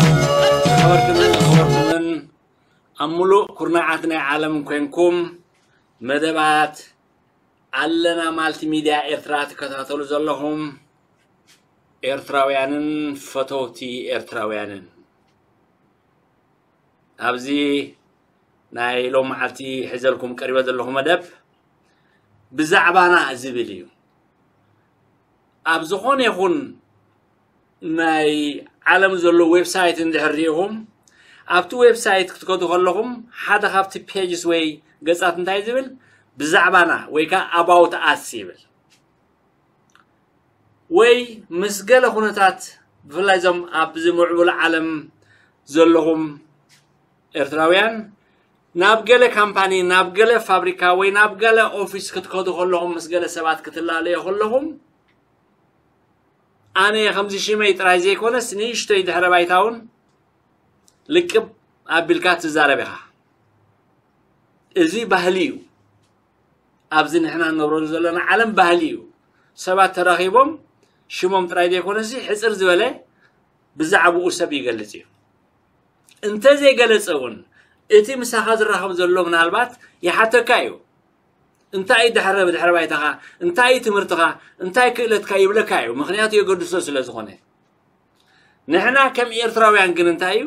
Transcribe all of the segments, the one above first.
ዝኸበርኩምን ዝኸበርኩምን ኣብ ሙሉእ ኩርናዓት ናይ ዓለም ኮንኩም መደባት ኣለና ማልቲሚድያ ኤርትራ ትከታተሉ ዘለኹም ኤርትራውያንን ፈተውቲ ኤርትራውያንን፣ ኣብዚ ናይ ሎም መዓልቲ ሒዘልኩም ቀሪበ ዘለኹ መደብ ብዛዕባና ዝብል እዩ። ኣብ ዝኾነ ይኹን ናይ ዓለም ዘሎ ዌብሳይት እንድሕር ሪኢኹም፣ ኣብቲ ዌብሳይት ክትከዱ ከለኹም ሓደ ካብቲ ፔጅስ ወይ ገጻት እንታይ ዝብል፣ ብዛዕባና ወይ ከዓ ኣባውት ኣስ ይብል። ወይ ምስ ገለ ኩነታት፣ ብፍላይ እዞም ኣብዚ ምዕቡል ዓለም ዘለኹም ኤርትራውያን፣ ናብ ገለ ካምፓኒ፣ ናብ ገለ ፋብሪካ ወይ ናብ ገለ ኦፊስ ክትከዱ ከለኹም፣ ምስ ገለ ሰባት ክትላለዩ ከለኹም፣ ኣነ ከምዚ ሽመይ ጥራይ ዘይኮነስ ንእሽቶይ ድሕረ ባይታ እውን ልቅብ ኣቢልካ ትዛረብ ኢኻ። እዚ ባህሊ እዩ። ኣብዚ ንሕና ንነብረሉ ዘለና ዓለም ባህሊ እዩ። ሰባት ተራኺቦም ሽሞም ጥራይ ዘይኮነሲ ሕጽር ዝበለ ብዛዕባኡ ሰብ ይገልጽ እዩ። እንተዘይገለጸ እውን እቲ ምሳኻ ዝራኸብ ዘሎ ምናልባት ይሓተካ እዩ። እንታይ እዩ ድሕረ-፣ ድሕረ ባይታኻ? እንታይ እዩ ትምህርትኻ? እንታይ ክእለትካ? ይብለካ እዩ። ምኽንያቱ የገድሶ ስለ ዝኾነ። ንሕና ከም ኤርትራውያን ግን እንታይ እዩ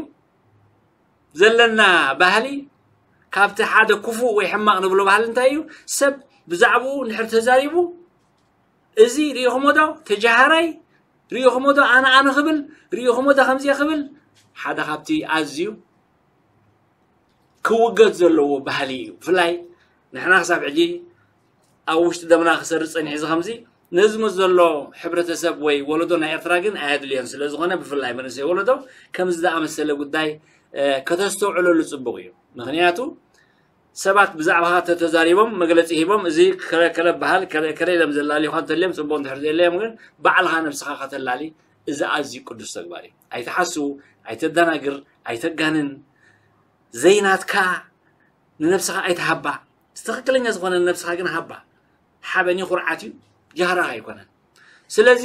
ዘለና ባህሊ? ካብቲ ሓደ ክፉእ ወይ ሕማቕ ንብሎ ባህሊ እንታይ እዩ? ሰብ ብዛዕባኡ እንድሕር ተዛሪቡ፣ እዚ ርኢኹሞ ዶ? ተጃሃራይ ርኢኹሞ ዶ? ኣነ ኣነ ክብል ርኢኹሞ ዶ? ከምዚ ክብል ሓደ ካብቲ ኣዝዩ ክውገድ ዘለዎ ባህሊ እዩ። ብፍላይ ንሕና ክሳብ ሕጂ ኣብ ውሽጢ ደምና ክሰርጽ ጸኒሑ እዚ ከምዚ ነዚ ምስ ዘሎ ሕብረተሰብ ወይ ወለዶ ናይ ኤርትራ ግን ኣየድልዮን ስለ ዝኾነ፣ ብፍላይ መንእሰይ ወለዶ ከምዚ ዝኣመሰለ ጉዳይ፣ እ፣ ከተስተውዕለሉ ጽቡቕ እዩ። ምኽንያቱ ሰባት ብዛዕባኻ ተተዛሪቦም መግለጺ ሂቦም፣ እዚ ከለ፣ ከለ በሃል፣ ከለ፣ ከለ ኢሎም ዘላልዩኻ እንተልዮም ጽቡቕ፣ እንድሕር ዘየለዮም ግን ባዕልኻ ነብስኻ ከተላሊ፣ እዚ ኣዝዩ ቅዱስ ተግባር እዩ። ኣይትሓሱ፣ ኣይተደናግር፣ ኣይተጋንን። ዘይናትካ ንነብስኻ ኣይትሃባ። ትኽክለኛ ዝኾነ ንነብስኻ ግን ሃባ። ሓበን እዩ፣ ኩርዓት እዩ፣ ጃህራ ኣይኮነን። ስለዚ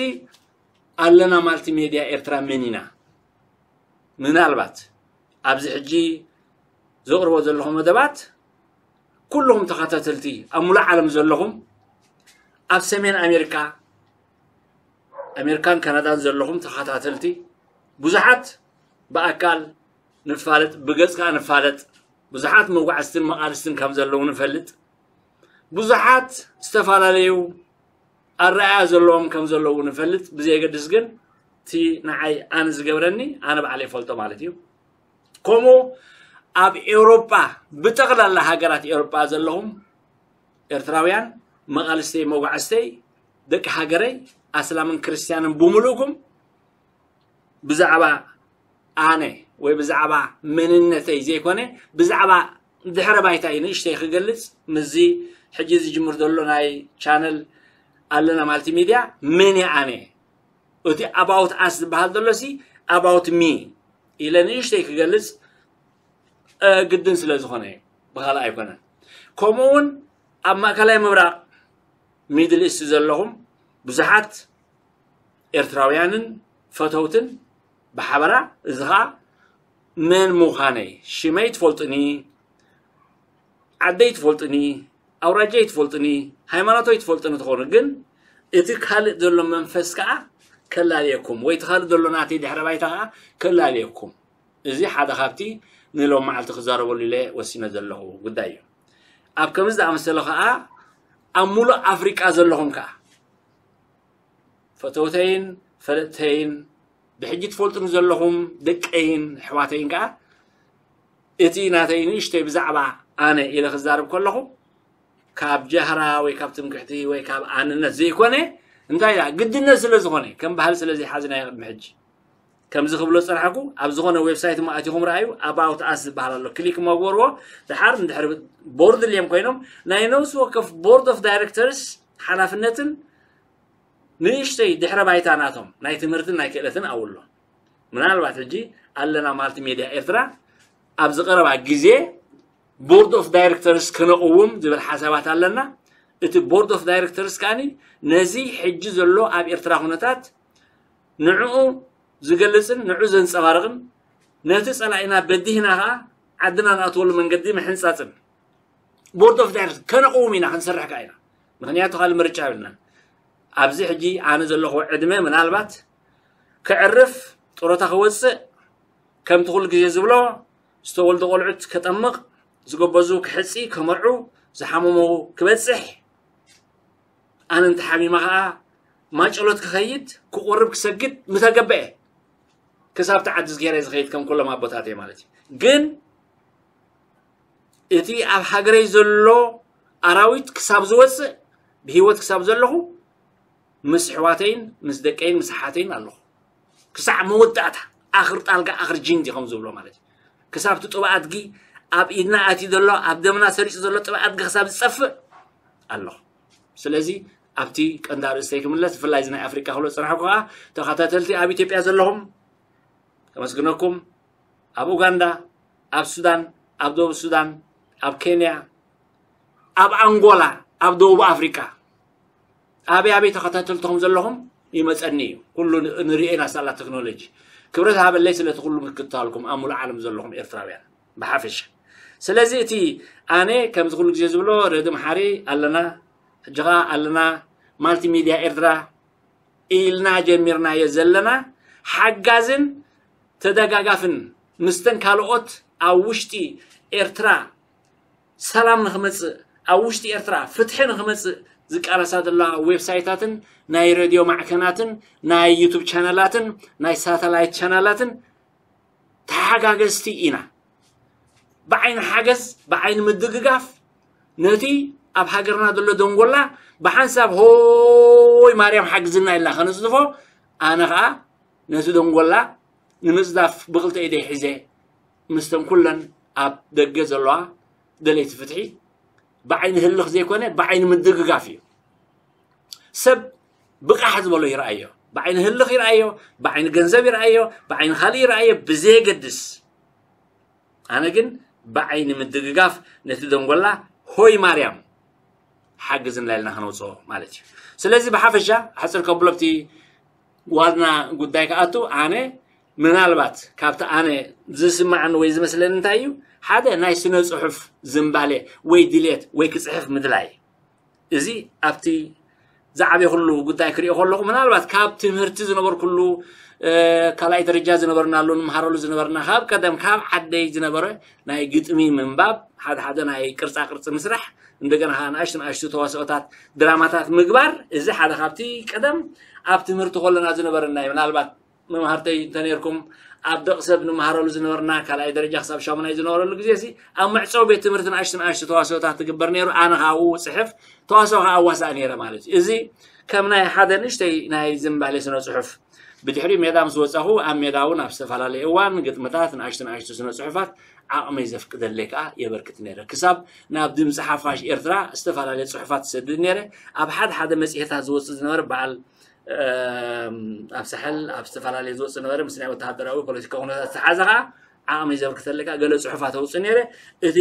ኣለና ማልቲሜድያ ኤርትራ መን ኢና? ምናልባት ኣብዚ ሕጂ ዘቕርቦ ዘለኹ መደባት ኩልኹም ተኸታተልቲ ኣብ ሙሉእ ዓለም ዘለኹም ኣብ ሰሜን ኣሜሪካ፣ ኣሜሪካን ካናዳን ዘለኹም ተኸታተልቲ ብዙሓት ብኣካል ንፋለጥ፣ ብገጽ ከኣ ንፋለጥ፣ ብዙሓት መጓዕዝትን መቓልስትን ከም ዘለዉ ንፈልጥ፣ ብዙሓት ዝተፈላለዩ ኣረኣእያ ዘለዎም ከም ዘለዉ ንፈልጥ፣ ብዘየገድስ ግን እቲ ንዓይ ኣነ ዝገብረኒ ኣነ ባዕለ ይፈልጦ ማለት እዩ። ከምኡ ኣብ ኤውሮጳ፣ ብጠቕላላ ሃገራት ኤውሮጳ ዘለኹም ኤርትራውያን መቓልስተይ፣ መጓዕዝተይ፣ ደቂ ሃገረይ፣ ኣስላምን ክርስትያንን ብምሉእኩም ብዛዕባ ኣነ ወይ ብዛዕባ መንነተይ ዘይኮነ፣ ብዛዕባ ድሕረ ባይታይ ንእሽተይ ክገልጽ፣ ምስዚ ሕጂ ዝጅምር ዘሎ ናይ ቻነል ኣለና ማልቲሚድያ፣ መን እየ ኣነ? እቲ ኣባውት ኣስ ዝበሃል ዘሎ ሲ ኣባውት ሚ ኢለ ንእሽተይ ክገልጽ፣ እ፣ ግድን ስለ ዝኾነ እዩ፣ ብኻልእ ኣይኮነን። ከምኡ እውን ኣብ ማእከላይ ምብራቕ፣ ሚድል ኢስት ዘለኹም ብዙሓት ኤርትራውያንን ፈተውትን ብሓበራ፣ እዚ ኸኣ መን ምዃነይ፣ ሽመይ ትፈልጡኒ፣ ዓደይ ትፈልጡኒ፣ ኣውራጃይ ትፈልጡኒ፣ ሃይማኖተይ ትፈልጡኒ ትኾኑ፣ ግን እቲ ካልእ ዘሎ መንፈስ ከኣ ከላልየኩም፣ ወይ እቲ ካልእ ዘሎ ናተይ ድሕረ ባይታ ከኣ ከላልየኩም። እዚ ሓደ ካብቲ ንሎም መዓልቲ ክዛረበሉ ኢለ ወሲነ ዘለኹ ጉዳይ እዩ። ኣብ ከምዚ ዝኣመሰለ ከዓ ኣብ ሙሉእ ኣፍሪቃ ዘለኹም ከዓ ፈተውተይን ፈለጥተይን ብሕጂ ትፈልጡኒ ዘለኹም ደቀይን ኣሕዋተይን ከዓ እቲ ናተይ ንእሽተይ ብዛዕባ ኣነ ኢለ ክዛረብ ከለኹ ካብ ጃህራ ወይ ካብ ትምክሕቲ ወይ ካብ ኣንነት ዘይኮነ እንታይ ኢላ ግድነት ስለ ዝኾነ ከም ባህሊ ስለ ዘይሓዝናዮ ቅድሚ ሕጂ ከምዚ ክብሎ ዝጸናሕኩ ኣብ ዝኾነ ዌብሳይት እሞ ኣቲኹም ረኣዩ። ኣባውት ኣስ ዝበሃል ኣሎ ክሊክ እሞ ግበርዎ። ድሓር እንድሕር ቦርድ ድልዮም ኮይኖም ናይ ነብሲ ወከፍ ቦርድ ኦፍ ዳይሬክተርስ ሓላፍነትን ንእሽተይ ድሕረ ባይታ ናቶም ናይ ትምህርትን ናይ ክእለትን ኣብሎ። ምናልባት ሕጂ ኣለና ማልቲ ሜድያ ኤርትራ ኣብዚ ቀረባ ግዜ ቦርድ ኦፍ ዳይሬክተርስ ክነቕውም ዝብል ሓሳባት ኣለና። እቲ ቦርድ ኦፍ ዳይሬክተርስ ከዓኒ ነዚ ሕጂ ዘሎ ኣብ ኤርትራ ኩነታት ንዕኡ ዝገልጽን ንዕኡ ዘንጸባርቕን ነቲ ጸላኢና በዲህና ከኣ ዓድና ንኣትወሉ መንገዲ ምሕንጻጽን ቦርድ ኦፍ ዳይሬክተር ከነቕውም ኢና ክንሰርሕ ከኣ ኢና። ምኽንያቱ ካልእ ምርጫ የብልናን። ኣብዚ ሕጂ ኣነ ዘለኹ ዕድመ ምናልባት ከዕርፍ ጡረታ ክወጽእ ከምቲ ኩሉ ግዜ ዝብሎ ዝተወልዱ ቆልዑት ከጠምቕ ዝጎበዙ ክሕጺ ከመርዑ ዝሓመሙ ክበጽሕ ኣነ እንተሓሚመ ከዓ ማጨሎት ክኸይድ ክቁርብ ክሰግድ ምተገበአ ክሳብቲ ዓዲ ዝገይረ ዝኸይድ ከም ኩሎም ኣቦታተይ ማለት እዩ። ግን እቲ ኣብ ሃገረይ ዘሎ ኣራዊት ክሳብ ዝወፅእ ብህይወት ክሳብ ዘለኹ ምስ ኣሕዋተይን ምስ ደቀይን ምስ ኣሓተይን ኣለኹ። ክሳዕ መወዳእታ ኣኽር ጣልጋ ኣኽር ጅንዲ ከም ዝብሎ ማለት እዩ። ክሳብ እቲ ጥብኣድጊ ኣብ ኢድና ኣትዩ ዘሎ ኣብ ደምና ሰሪፁ ዘሎ ጥብኣድጊ ክሳብ ዝፀፍእ ኣለኹ። ስለዚ ኣብቲ ቀንዲ ኣርእስተይ ክምለስ ብፍላይ እዚ ናይ ኣፍሪቃ ክብሎ ዝፀናሕኩ ከዓ ተኸታተልቲ ኣብ ኢትዮጵያ ዘለኹም ከመስግነኩም ኣብ ኡጋንዳ ኣብ ሱዳን ኣብ ደቡብ ሱዳን ኣብ ኬንያ ኣብ ኣንጎላ ኣብ ደቡብ ኣፍሪቃ ኣበይ ኣበይ ተኸታተልትኹም ዘለኹም ይመፀኒ እዩ። ኩሉ ንሪኦ ኢና ሳላ ቴክኖሎጂ። ክብረት ሃበለይ ስለቲ ኩሉ ምክትታልኩም ኣብ ሙሉእ ዓለም ዘለኹም ኤርትራውያን ብሓፈሻ። ስለዚ እቲ ኣነ ከምዚ ኩሉ ግዜ ዝብሎ ረዲ መሓሪ ኣለና፣ ሕጂ ኸዓ ኣለና ማልቲሚድያ ኤርትራ ኢልና ጀሚርናዮ ዘለና ሓጋዝን ተደጋጋፍን ምስተን ካልኦት ኣብ ውሽጢ ኤርትራ ሰላም ንክመፅእ ኣብ ውሽጢ ኤርትራ ፍትሒ ንክመፅእ ዝቃለሳ ዘለዋ ዌብሳይታትን ናይ ሬድዮ ማዕከናትን ናይ ዩቱብ ቻነላትን ናይ ሳተላይት ቻነላትን ተሓጋገዝቲ ኢና። ብዓይኒ ሓገዝ ብዓይኒ ምድግጋፍ ነቲ ኣብ ሃገርና ዘሎ ደንጎላ ብሓንሳብ ሆይ ማርያም ሓግዝና ኢልና ከነፅድፎ ኣነ ከዓ ነቲ ደንጎላ ንምፅዳፍ ብክልተ ኢደይ ሒዘ ምስተን ኩለን ኣብ ደገ ዘለዋ ደለይቲ ፍትሒ ብዓይኒ ህልኽ ዘይኮነ ብዓይኒ ምድግጋፍ እዩ። ሰብ ብቃሕ ዝበሎ ይረኣዮ፣ ብዓይኒ ህልኽ ይረኣዮ፣ ብዓይኒ ገንዘብ ይረኣዮ፣ ብዓይኒ ካልእ ይረኣዮ ብዘየገድስ ኣነ ግን ብዓይኒ ምድግጋፍ ነቲ ደንጎላ ሆይ ማርያም ሓግዝና ኢልና ከነውፅኦ ማለት እዩ። ስለዚ ብሓፈሻ ሓፅር ከብሎ ኣብቲ ዋና ጉዳይ ክኣቱ ኣነ ምናልባት ካብቲ ኣነ ዝስማዓኒ ወይ ዝመስለኒ እንታይ እዩ ሓደ ናይ ስነ ፅሑፍ ዝንባሌ ወይ ድሌት ወይ ክፅሕፍ ምድላይ እዚ ኣብቲ ዝዓበየ ኩሉ ጉዳይ ክሪኦ ከለኹ ምናልባት ካብ ትምህርቲ ዝነበርኩሉ ካልኣይ ደረጃ ዝነበርናሉ ንምሃረሉ ዝነበርና ካብ ቀደም ካብ ዓደይ ዝነበረ ናይ ግጥሚ ምንባብ ሓደ ሓደ ናይ ቅርፃ ቅርፂ ምስራሕ እንደገና ከዓ ንኣሽቱ ንኣሽቱ ተዋስኦታት ድራማታት ምግባር እዚ ሓደ ካብቲ ቀደም ኣብ ትምህርቲ ከለና ዝነበረና ምናልባት መምሃርተይ እንተነርኩም ኣብ ደቕ ሰብ ንምሃረሉ ዝነበርና ካልኣይ ደረጃ ክሳብ ሻሙናይ ዝነበረሉ ግዜ ሲ ኣብ መዕፀዊ ቤት ትምህርቲ ንኣሽቱ ንኣሽቱ ተዋስኦታት ትግበር ነይሩ ኣነ ካብኡ ፅሕፍ ተዋስኦ ከዓ ኣዋሳእ ነይረ ማለት እዩ እዚ ከም ናይ ሓደ ንእሽተይ ናይ ዝንባሌ ስነ ፅሑፍ ብድሕሪ ሜዳ ምስ ወፃኹ ኣብ ሜዳ እውን ኣብ ዝተፈላለየ እዋን ግጥምታት ንኣሽቱ ንኣሽቱ ስነ ፅሑፋት ዓቕመይ ዘፍቅደለይ ከዓ የበርክት ነይረ ክሳብ ናብ ድምፂ ሓፋሽ ኤርትራ ዝተፈላለየ ፅሑፋት ዝሰድድ ነይረ ኣብ ሓደ ሓደ መፅሄታት ዝወፅእ ዝነበረ በዓል ኣብ ሳሕል ኣብ ዝተፈላለየ ዝወፅእ ነበረ ምስ ናይ ወተሃደራዊ ፖለቲካ ኩነታት ዝተሓዘ ከዓ ዓቕሚ ዘበርክተለካ ገለ ፅሑፋት ኣውፅእ ነይረ እቲ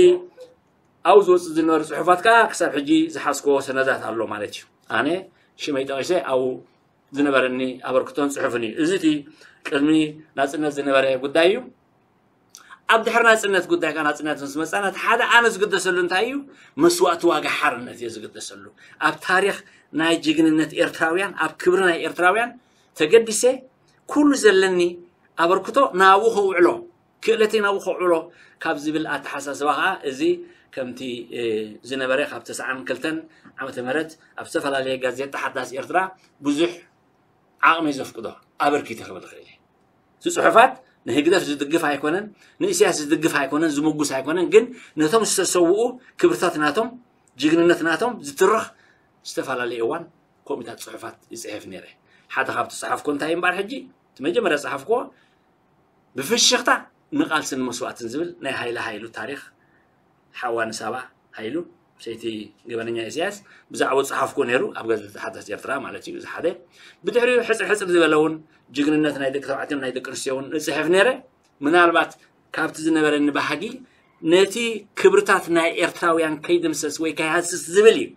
ኣብኡ ዝወፅእ ዝነበረ ፅሑፋት ከዓ ክሳብ ሕጂ ዝሓዝኮዎ ሰነዳት ኣሎ ማለት እዩ ኣነ ሽመይ ጠቂሰ ኣብኡ ዝነበረኒ ኣበርክቶን ፅሑፍን እዩ እዚ እቲ ቅድሚ ናፅነት ዝነበረ ጉዳይ እዩ ኣብ ድሕሪ ናፅነት ጉዳይ ከዓ ናፅነት ምስ መፃና እቲ ሓደ ኣነ ዝግደሰሉ እንታይ እዩ መስዋእቲ ዋጋ ሓርነት እየ ዝግደሰሉ ኣብ ታሪክ ናይ ጅግንነት ኤርትራውያን ኣብ ክብሪ ናይ ኤርትራውያን ተገዲሰ ኩሉ ዘለኒ ኣበርክቶ ናብኡ ከውዕሎ ክእለተይ ናብኡ ከውዕሎ ካብ ዝብል ኣተሓሳስባ ከዓ እዚ ከምቲ ዝነበረ ካብ ተስዓን ክልተን ዓመተ ምህረት ኣብ ዝተፈላለየ ጋዜጣ ሓዳስ ኤርትራ ብዙሕ ዓቕሚ ዘፍቅዶ ኣበርኪተ ክብል ይኽእል እየ። እቲ ጽሑፋት ንህግደፍ ዝድግፍ ኣይኮነን፣ ንእስያስ ዝድግፍ ኣይኮነን፣ ዝምጉስ ኣይኮነን። ግን ነቶም ዝተሰውኡ ክብርታት ናቶም፣ ጅግንነት ናቶም ዝትርኽ ዝተፈላለየ እዋን ከምኡታት ጽሑፋት ይጽሕፍ ነይረ። ሓደ ካብቲ ጸሓፍኮ እንታይ እምበኣር ሕጂ እቲ መጀመርያ ጸሓፍኮ ብፍሽኽታ ንቓልስን መስዋእትን ዝብል ናይ ሃይለ ሃይሉ ታሪኽ ሓዋ ንሳባ ሃይሉ ሰይቲ ገበነኛ ኢሳያስ ብዛዕባ ጸሓፍኮ ነይሩ ኣብ ጋዜጣ ሓዳስ ኤርትራ ማለት እዩ። እዚ ሓደ ብድሕሪኡ ሕጽር ሕጽር ዝበለ እውን ጅግንነት ናይ ደቂ ተባዕትዮን ናይ ደቂ ኣንስትዮን እጽሕፍ ነይረ። ምናልባት ካብቲ ዝነበረኒ ባህጊ ነቲ ክብርታት ናይ ኤርትራውያን ከይድምሰስ ወይ ከይሃስስ ዝብል እዩ።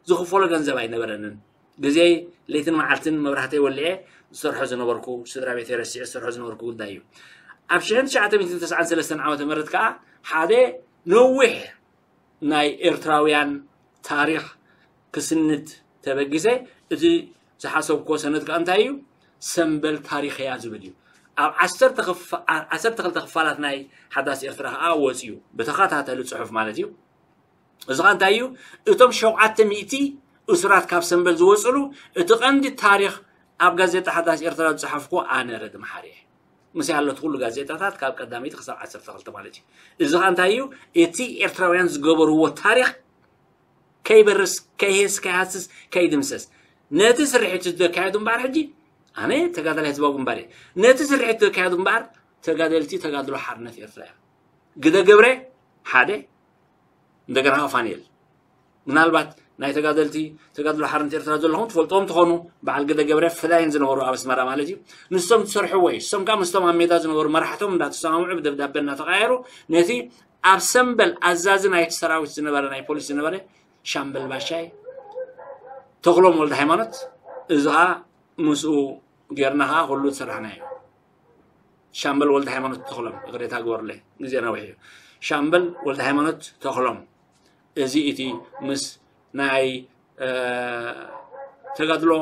ዝኽፈሎ ገንዘብ ኣይነበረንን። ግዜይ ለይትን መዓልትን መብራህተይ ወሊዐ ዝሰርሖ ዝነበርኩ፣ ስድራ ቤተይ ረሲዐ ዝሰርሖ ዝነበርኩ ጉዳይ እዩ። ኣብ ሽሕን ትሽዓተ ሚእትን ተስዓን ሰለስተን ዓመተ ምህረት ከዓ ሓደ ነዊሕ ናይ ኤርትራውያን ታሪኽ ክስንድ ተበጊሰ። እቲ ዝሓሰብኩዎ ሰነድ ከዓ እንታይ እዩ? ሰምበል ታሪኽ እያ ዝብል እዩ። ኣብ ዓሰርተ ክፋ-፣ ዓ-፣ ዓሰርተ ክልተ ክፋላት ናይ ሓዳስ ኤርትራ ከዓ ወፂኡ ብተኸታተሊ ፅሑፍ ማለት እዩ። እዚ ኸኣ እንታይ እዩ? እቶም ሸውዓተ ሚእቲ እሱራት ካብ ሰምበል ዝወጽሉ እቲ ቀንዲ ታሪኽ ኣብ ጋዜጣ ሓዳስ ኤርትራ ዝጸሓፍኩ ኣነ ረዲ መሓሪ እየ። ምስ ያለት ኩሉ ጋዜጣታት ካብ ቀዳመይቲ ክሳብ ዓሰርተ ክልተ ማለት እዩ። እዚ ኸኣ እንታይ እዩ? እቲ ኤርትራውያን ዝገበርዎ ታሪኽ ከይበርስ፣ ከይሄስ፣ ከይሃስስ፣ ከይድምሰስ። ነቲ ስርሒት ዘካየዱ እምበኣር ሕጂ ኣነ ተጋዳላይ ህዝባዊ ግንባር እየ። ነቲ ስርሒት ዘካየዱ እምበኣር ተጋደልቲ ተጋድሎ ሓርነት ኤርትራ እዮም። ግደ ገብረ ሓደ፣ እንደገና ፋኒኤል። ምናልባት ናይ ተጋደልቲ ተጋድሎ ሓርነት ኤርትራ ዘለኹም ትፈልጥዎም ትኾኑ፣ በዓል ግደ ገብረ ፈዳይን ዝነበሩ ኣብ ኣስመራ ማለት እዩ። ንሶም ዝሰርሕዎ እዩ። ንሶም ከዓ ምስቶም ኣብ ሜዳ ዝነበሩ መራሕቶም እንዳተሰማምዑ ብደብዳቤ እናተቐያየሩ ነቲ ኣብ ሰምበል ኣዛዚ ናይቲ ሰራዊት ዝነበረ ናይ ፖሊስ ዝነበረ ሻምበል ባሻይ ተኽሎም ወልደ ሃይማኖት፣ እዚ ከዓ ምስኡ ጌርና ከዓ ኩሉ ዝሰራሕና እዩ። ሻምበል ወልደ ሃይማኖት ተኽሎም፣ ይቕሬታ ግበሩለይ፣ ግዜ ነዊሕ እዩ። ሻምበል ወልደ ሃይማኖት ተኽሎም፣ እዚ እቲ ምስ ናይ፣ እ፣ ተጋድሎ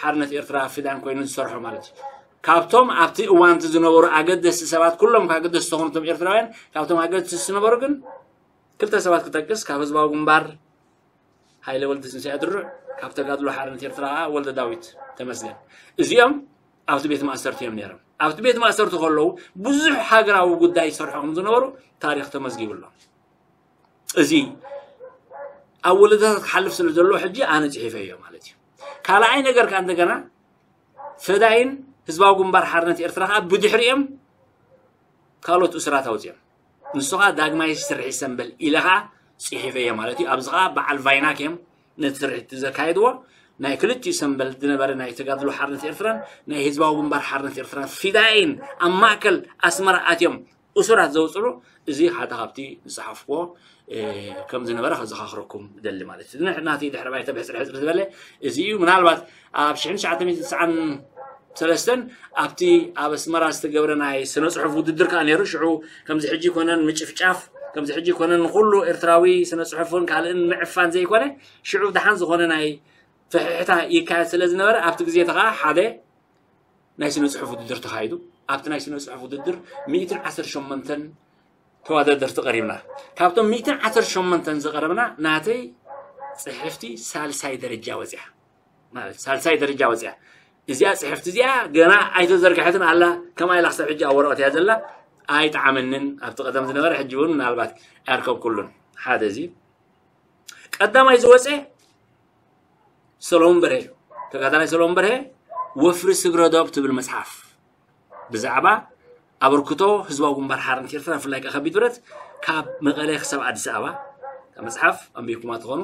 ሓርነት ኤርትራ ፊዳን ኮይኑ ዝሰርሖ ማለት እዩ። ካብቶም ኣብቲ እዋን እቲ ዝነበሩ ኣገደስቲ ሰባት፣ ኩሎም ኣገደስቲ ዝኾኑ እቶም ኤርትራውያን፣ ካብቶም ኣገደስቲ ዝነበሩ ግን ክልተ ሰባት ክጠቅስ፣ ካብ ህዝባዊ ግንባር ሃይለ ወልደ ትንሳኤ ድሩዕ፣ ካብ ተጋድሎ ሓርነት ኤርትራ ከዓ ወልደ ዳዊት ተመስገን። እዚኦም ኣብቲ ቤት ማእሰርቲ እዮም ነይሮም። ኣብቲ ቤት ማእሰርቲ ከለዉ ብዙሕ ሃገራዊ ጉዳይ ይሰርሑ ከም ዝነበሩ ታሪኽ ተመዝጊቡ ኣሎ። እዚ ኣብ ወለዶታት ክሓልፍ ስለ ዘሎ ሕጂ ኣነ ጽሒፈዮ ማለት እዩ። ካልኣይ ነገር ከዓ እንደገና ፈዳይን ህዝባዊ ግንባር ሓርነት ኤርትራ ከዓ ብድሕሪኦም ካልኦት እሱራት ኣውፅኦም። ንሱ ከዓ ዳግማይ ስርሒት ሰምበል ኢለ ከዓ ጽሒፈዮ ማለት እዩ። ኣብዚ ከዓ በዓል ቫይናክ እዮም ነቲ ስርሒት ዘካየድዎ። ናይ ክልቲኡ ሰምበል ዝነበረ ናይ ተጋድሎ ሓርነት ኤርትራን ናይ ህዝባዊ ግንባር ሓርነት ኤርትራን ፊዳይን ኣብ ማእከል ኣስመራ ኣትዮም እሱራት ዘውፅሉ፣ እዚ ሓደ ካብቲ ዝጸሓፍክዎ፣ እ፣ ከም ዝነበረ ከዘኻኽረኩም እደሊ ማለት እዩ። ንሕ-፣ ናተይ ድሕረ ባይታ ብሕጽር ሕጽር ዝበለ እዚ እዩ። ምናልባት ኣብ ሽሕን ትሽዓተ ሚእትን ትስዓን ሰለስተን ኣብቲ ኣብ ኣስመራ ዝተገብረ ናይ ስነ ጽሑፍ ውድድር ከኣ ነይሩ። ሽዑ ከምዚ ሕጂ ኮነን ምጭፍጫፍ፣ ከምዚ ሕጂ ኮነን ንኹሉ ኤርትራዊ ስነ ጽሑፍን ካልእን ምዕፋን ዘይኮነ፣ ሽዑ ደሓን ዝኾነ ናይ ፍሕሕታ ይካየድ ስለ ዝነበረ፣ ኣብቲ ግዜ እቲ ከኣ ሓደ ናይ ስነ ጽሑፍ ውድድር ተኻይዱ። ኣብቲ ናይ ስነ ጽሑፍ ውድድር ሚእትን ዓሰርተ ሸሞንተን ተወዳደርቲ ቀሪብና። ካብቶም ሚእትን ዓሰርተ ሸሞንተን ዝቐረብና ናተይ ጽሕፍቲ ሳልሳይ ደረጃ ወጽያ። ማለት ሳልሳይ ደረጃ ወጽያ። እዚኣ ጽሕፍቲ እዚኣ ገና ኣይተዘርግሐትን ኣላ፣ ከምኣ ኢላ ክሳብ ሕጂ ኣብ ወረቐት እያ ዘላ። ኣይጠዓመንን፣ ኣብቲ ቀደም ዝነበረ ሕጂ እውን ምናልባት ኣይርከብኩሉን። ሓደ እዚ። ቀዳማይ ዝወጸ ሰሎሞን በርሀ እዩ። ተጋዳላይ ሰሎሞን በርሀ ወፍሪ ስግረ ዶብ ትብል መጽሓፍ ብዛዕባ ኣበርክቶ ህዝባዊ ግንባር ሓርነት ኤርትራ፣ ብፍላይ ከኣ ከቢድ ብረት ካብ መቐለ ክሳብ ኣዲስ ኣበባ፣ እታ መጽሓፍ ኣንቢብኩማ ትኾኑ።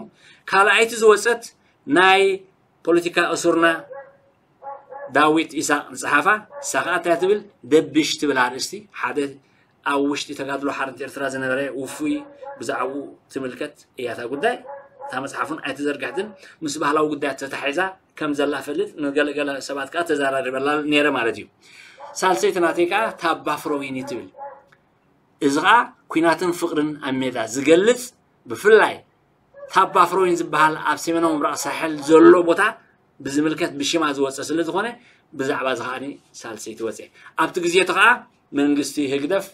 ካልኣይቲ ዝወጸት ናይ ፖለቲካ እሱርና ዳዊት ኢሳቅ ዝጸሓፋ፣ ንሳ ከኣ እንታይ ትብል? ደብሽ ትብል ኣርእስቲ፣ ሓደ ኣብ ውሽጢ ተጋድሎ ሓርነት ኤርትራ ዝነበረ ውፉይ ብዛዕባኡ ትምልከት እያ እታ ጉዳይ። እታ መጽሓፍ እውን ኣይተዘርግሐትን፣ ምስ ባህላዊ ጉዳያት ተታሒዛ ከም ዘላ ፈልጥ፣ ንገለገለ ሰባት ከኣ ተዘራሪበላ ነይረ ማለት እዩ። ሳልሰይቲ ናተይ ከኣ ታባ ፍሮዊኒ ትብል። እዚ ኸኣ ኲናትን ፍቕርን ኣብ ሜዳ ዝገልጽ፣ ብፍላይ ታባ ፍሮይን ዝበሃል ኣብ ሰሜናዊ ምብራቕ ሳሕል ዘሎ ቦታ ብዝምልከት ብሽማ ዝወጸ ስለ ዝኾነ፣ ብዛዕባ እዚ ኸኣ ሳልሰይቲ ወጸ። ኣብቲ ግዜ እቲ ኸኣ መንግስቲ ህግደፍ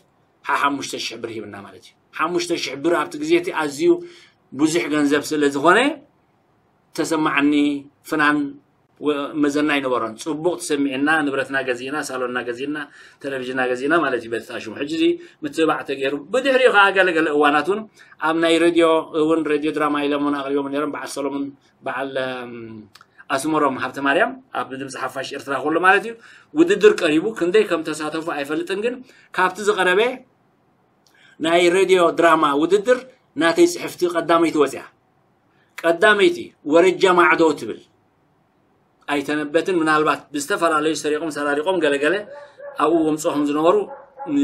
ሓሓሙሽተ ሽሕ ብር ሂብና ማለት እዩ። ሓሙሽተ ሽሕ ብር ኣብቲ ግዜ እቲ ኣዝዩ ብዙሕ ገንዘብ ስለ ዝኾነ ተሰማዓኒ ፍናን ወ- መዘና ኣይነበሮን። ጽቡቕ ተሰሚዕና፣ ንብረትና ገዚእና፣ ሳሎንና ገዚእና፣ ቴሌቪዥንና ገዚእና ማለት እዩ። በቲ ሽሙ ሕጂ እዚ ምትብባዕ ተገይሩ፣ ብድሕሪኡ ከዓ ገለገለ እዋናት እውን ኣብ ናይ ሬድዮ እውን፣ ሬድዮ ድራማ ኢሎም እውን ኣቕሪቦም ነይሮም። በዓል ሰሎሙን፣ በዓል እም፣ ኣስመሮም ሃብተ ማርያም ኣብ ድምፂ ሓፋሽ ኤርትራ ከሎ ማለት እዩ። ውድድር ቀሪቡ፣ ክንደይ ከም ተሳተፉ ኣይፈልጥን፣ ግን ካብቲ ዝቐረበ ናይ ሬድዮ ድራማ ውድድር ናተይ ፅሕፍቲ ቀዳመይቲ ወፅያ። ቀዳመይቲ ወረጃ ማዕዶ ትብል ኣይተነበትን። ምናልባት ብዝተፈላለዩ ሰሪቖም ሰራሪቖም ገለገለ ኣብኡ ወምፅኦም ዝነበሩ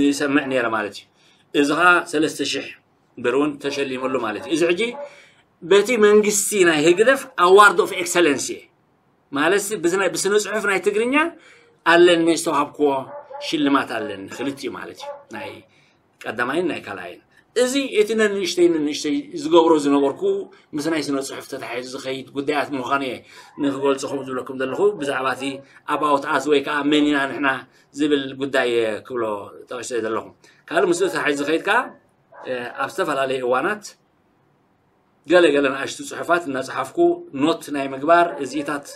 ይሰምዕ ነይረ ማለት እዩ። እዚ ከዓ ሰለስተ ሽሕ ብር እውን ተሸሊመሉ ማለት እዩ። እዚ ሕጂ በቲ መንግስቲ ናይ ህግደፍ ኣዋርድ ኦፍ ኤክሰለንሲ ማለት ብዝናይ ብስነ ጽሑፍ ናይ ትግርኛ ኣለኒ ዝተዋሃብክዎ ሽልማት ኣለኒ ክልቲኡ ማለት እዩ። ናይ ቀዳማይን ናይ ካልኣይን። እዚ እቲ ነንእሽተይ ነንእሽተይ ዝገብሮ ዝነበርኩ ምስ ናይ ስነ ጽሑፍ ተታሒዙ ዝኸይድ ጉዳያት ምዃኑ እየ ንክገልጾ ከም ዝብለኩም ዘለኹ። ብዛዕባ እቲ ኣባውት ኣስ ወይ ከዓ መን ኢና ንሕና ዝብል ጉዳይ እየ ክብሎ ጠቂሰ ዘለኹ። ካልእ ምስኡ ተታሒዙ ዝኸይድ ከዓ ኣብ ዝተፈላለዩ እዋናት ገለ ገለ ንኣሽቱ ጽሑፋት እናጸሓፍኩ ኖት ናይ ምግባር እዚኢታት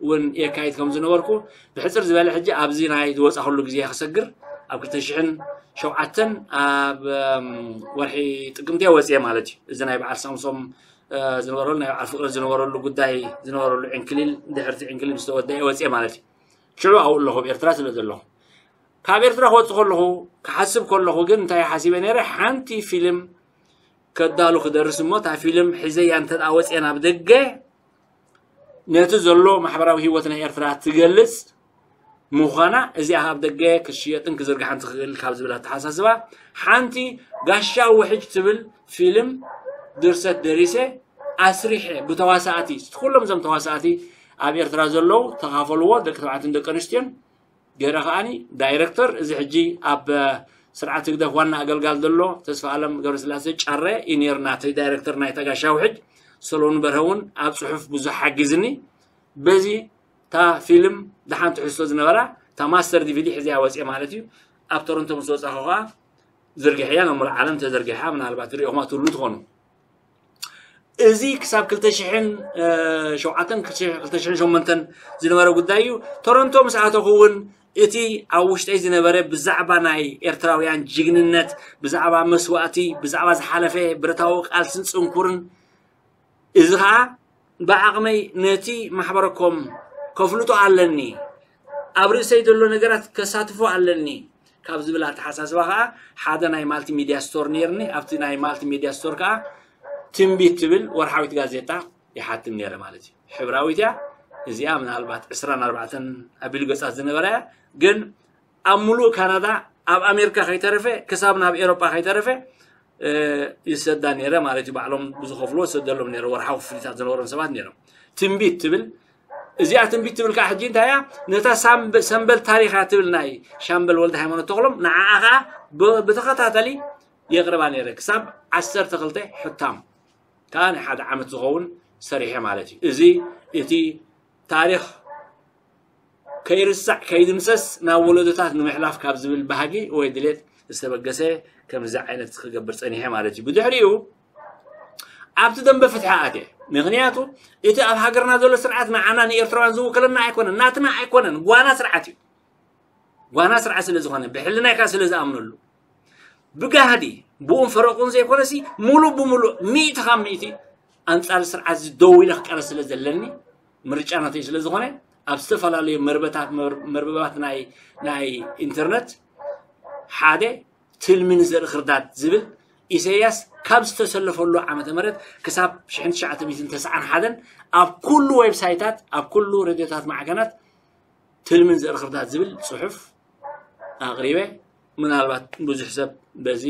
እውን የካይድ ከም ዝነበርኩ ብሕጽር ዝበለ ሕጂ ኣብዚ ናይ ዝወጻኹሉ ግዜ ክሰግር ኣብ ክልተ ሽሕን ሸውዓተን ኣብ ወርሒ ጥቅምቲ ወጽየ ማለት እዩ። እዚ ናይ በዓል ሳምሶም ዝነበረሉ ናይ በዓል ፍቅሪ ዝነበረሉ ጉዳይ ዝነበረሉ ዕንክሊል ድሕርቲ ዕንክሊል ዝተወደአ ወጽየ ማለት እዩ። ሽዑ ኣብኡ ኣለኹ ኣብ ኤርትራ ስለ ዘለኹ ካብ ኤርትራ ክወጽእ ከለኹ ክሓስብ ከለኹ ግን እንታይ ሓሲበ ነይረ ሓንቲ ፊልም ከዳሉ ክደርስ እሞ እታ ፊልም ሒዘያ እንተ ወፅአ ናብ ደገ ነቲ ዘሎ ማሕበራዊ ህይወት ናይ ኤርትራ ትገልፅ ምዃና እዚኣ ኣብ ደገ ክሽየጥን ክዝርግሓን ትኽእል ካብ ዝብል ኣተሓሳስባ ሓንቲ ጋሻ ውሕጅ ትብል ፊልም ድርሰት ደሪሰ ኣስሪሐ ብተዋሳእቲ ኩሎም እዞም ተዋሳእቲ ኣብ ኤርትራ ዘለዉ ተኻፈልዎ ደቂ ተባዕትን ደቂ ኣንስትዮን ገይረ ከዓኒ ዳይረክተር እዚ ሕጂ ኣብ ስርዓት ህግደፍ ዋና ኣገልጋል ዘሎ ተስፋ ኣለም ገብረስላሴ ጫረ እዩ ነይሩ ናተይ ዳይረክተር ናይ ተጋሻ ውሕጅ ሰሎን በርሀ እውን ኣብ ፅሑፍ ብዙሕ ሓጊዝኒ በዚ እታ ፊልም ደሓን ትሕዝቶ ዝነበራ እታ ማስተር ዲቪዲ ሕዚያ ወፅየ ማለት እዩ ኣብ ቶሮንቶ ምስ ወፃኹ ከዓ ዝርግሕያ ናብ ሙሉእ ዓለም ተዘርጊሓ ምናልባት ሪኦኹማ ትብሉ ትኾኑ እዚ ክሳብ ክልተ ሽሕን ሸውዓተን ክልተ ሽሕን ሸሞንተን ዝነበረ ጉዳይ እዩ። ቶሮንቶ ምስ ኣተኹ እውን እቲ ኣብ ውሽጠይ ዝነበረ ብዛዕባ ናይ ኤርትራውያን ጅግንነት፣ ብዛዕባ መስዋእቲ፣ ብዛዕባ ዝሓለፈ ብረታዊ ቃልስን ጽንኩርን እዚ ኸዓ ብዓቕመይ ነቲ ማሕበረኮም ከፍልጦ ኣለኒ፣ ኣብ ርእሰይ ዘሎ ነገራት ከሳትፎ ኣለኒ ካብ ዝብል ኣተሓሳስባ ኸዓ ሓደ ናይ ማልቲሚድያ ስቶር ነይርኒ። ኣብቲ ናይ ማልቲሚድያ ስቶር ከዓ ትንቢት ትብል ወርሓዊት ጋዜጣ ይሓትም ነይረ ማለት እዩ። ሕብራዊት እያ እዚኣ፣ ምናልባት ዕስራን ኣርባዕተን ኣቢሉ ገጻት ዝነበራ እያ። ግን ኣብ ሙሉእ ካናዳ ኣብ ኣሜሪካ ከይተረፈ ክሳብ ናብ ኤሮጳ ከይተረፈ ይሰዳ ነይረ ማለት እዩ። ባዕሎም ብዝኸፍልዎ ዝሰደሎም ነይረ ወርሓዊ ክፍሊታት ዝነበሮም ሰባት ነይሮም። ትንቢት ትብል እዚኣ ትንቢት ትብል ከዓ ሕጂ እንታይ እያ? ነታ ሰምበል ታሪኻ ትብል ናይ ሻምበል ወልደ ሃይማኖት ተኽሎም ንዓኣ ከዓ ብተኸታተሊ የቕርባ ነይረ ክሳብ ዓሰርተ ክልተ ሕታም ከዓ ናይ ሓደ ዓመት ዝኸውን ሰሪሐ ማለት እዩ። እዚ እቲ ታሪኽ ከይርሳዕ ከይድምሰስ ናብ ወለዶታት ንምሕላፍ ካብ ዝብል ባህጊ ወይ ድሌት ዝተበገሰ ከምዚ ዓይነት ክገብር ጸኒሐ ማለት እዩ። ብድሕሪኡ ኣብቲ ደንበ ፍትሒ ኣትየ። ምክንያቱ እቲ ኣብ ሃገርና ዘሎ ስርዓት ንዓና ንኤርትራውያን ዝውክለና ኣይኮነን፣ ናትና ኣይኮነን፣ ጓና ስርዓት እዩ። ጓና ስርዓት ስለ ዝኾነ ብሕልናይ ከዓ ስለ ዝኣምነሉ ብጋህዲ ብኡን ፈረቁን ዘይኮነሲ ሙሉእ ብሙሉእ ሚእቲ ካብ ሚእቲ ኣንጻር ስርዓት እዚ ደው ኢለ ክቃለስ ስለ ዘለኒ ምርጫ ናተይ ስለ ዝኾነ ኣብ ዝተፈላለዩ መርበታት መርበባት ናይ ናይ ኢንተርነት ሓደ ትልሚ ንዘርኢ ክርዳድ ዝብል ኢሰያስ ካብ ዝተሰለፈሉ ዓመተ ምህረት ክሳብ ሽሕን ትሽዓተ ሚእትን ተስዓን ሓደን ኣብ ኩሉ ዌብሳይታት ኣብ ኩሉ ሬድዮታት ማዕከናት ትልምን ዘርኢ ክርዳድ ዝብል ጽሑፍ ኣቕሪበ ምናልባት ብዙሕ ሰብ በዚ